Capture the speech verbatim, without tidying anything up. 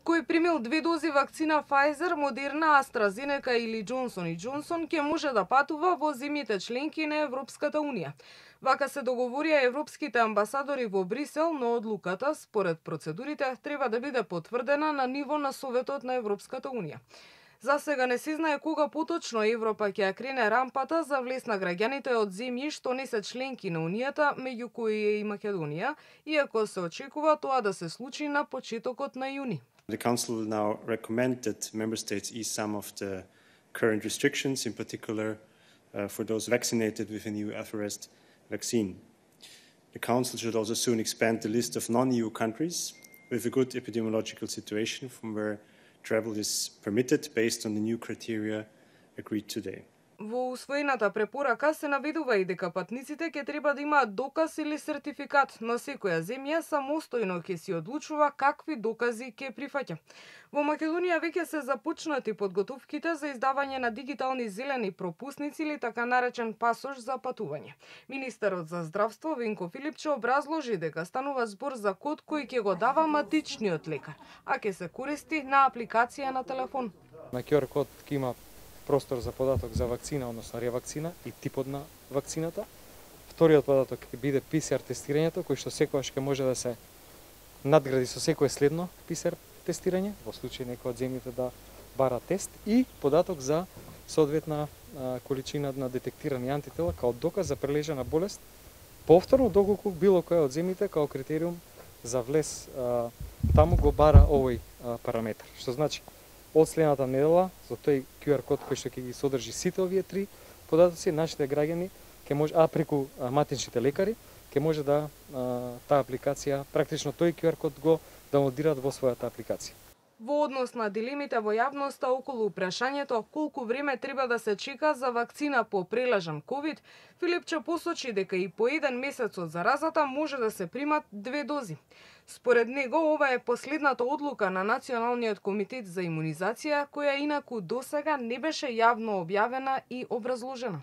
Кој примил две дози вакцина Pfizer, Moderna, AstraZeneca или Johnson и Johnson ќе може да патува во земјите членки на Европската Унија. Вака се договорија европските амбасадори во Брисел, но одлуката, според процедурите, треба да биде потврдена на ниво на Советот на Европската Унија. За сега не се знае кога поточно Европа ќе ја крене рампата за влез на граѓаните од земји што не се членки на Унијата, меѓу кои е и Македонија, иако се очекува тоа да се случи на почетокот на јуни. The Council will now recommend that Member States ease some of the current restrictions, in particular uh, for those vaccinated with a new Alpharest vaccine. The Council should also soon expand the list of non-E U countries with a good epidemiological situation from where travel is permitted based on the new criteria agreed today. Во усвоената препорака се наведува и дека патниците ќе треба да имаат доказ или сертификат, но секоја земја самостојно ќе си одлучува какви докази ќе прифаќа. Во Македонија веќе се започнати подготовките за издавање на дигитални зелени пропусници или така наречен пасош за патување. Министерот за здравство Венко Филипче образложи дека станува збор за код кој ќе го дава матичниот лекар, а ќе се користи на апликација на телефон. На ку ар код ќе има простор за податок за вакцина, односно ревакцина и типот на вакцината. Вториот податок ќе биде пи си ар тестирањето, кој што секогаш ќе може да се надгради со секое следно пи си ар тестирање, во случај некој од земјите да бара тест, и податок за соодветна а, количина на детектирани антитела као доказ за прележана болест, повторно доколку било која од земјите као критериум за влез а, таму го бара овој а, параметар. Што значи, од следната недела, со тој ку ар код кој што ќе ги содржи сите овие три податоци, нашите граѓани ќе може, а преку а, матичните лекари, ќе може да а, таа апликација, практично тој ку ар код го даунлодираат во својата апликација. Во однос на дилемите во јавноста околу прашањето колку време треба да се чека за вакцина по прележан ковид, Филипче посочи дека и по еден месец од заразата може да се примат две дози. Според него, ова е последната одлука на Националниот комитет за имунизација, која инаку досега не беше јавно објавена и образложена.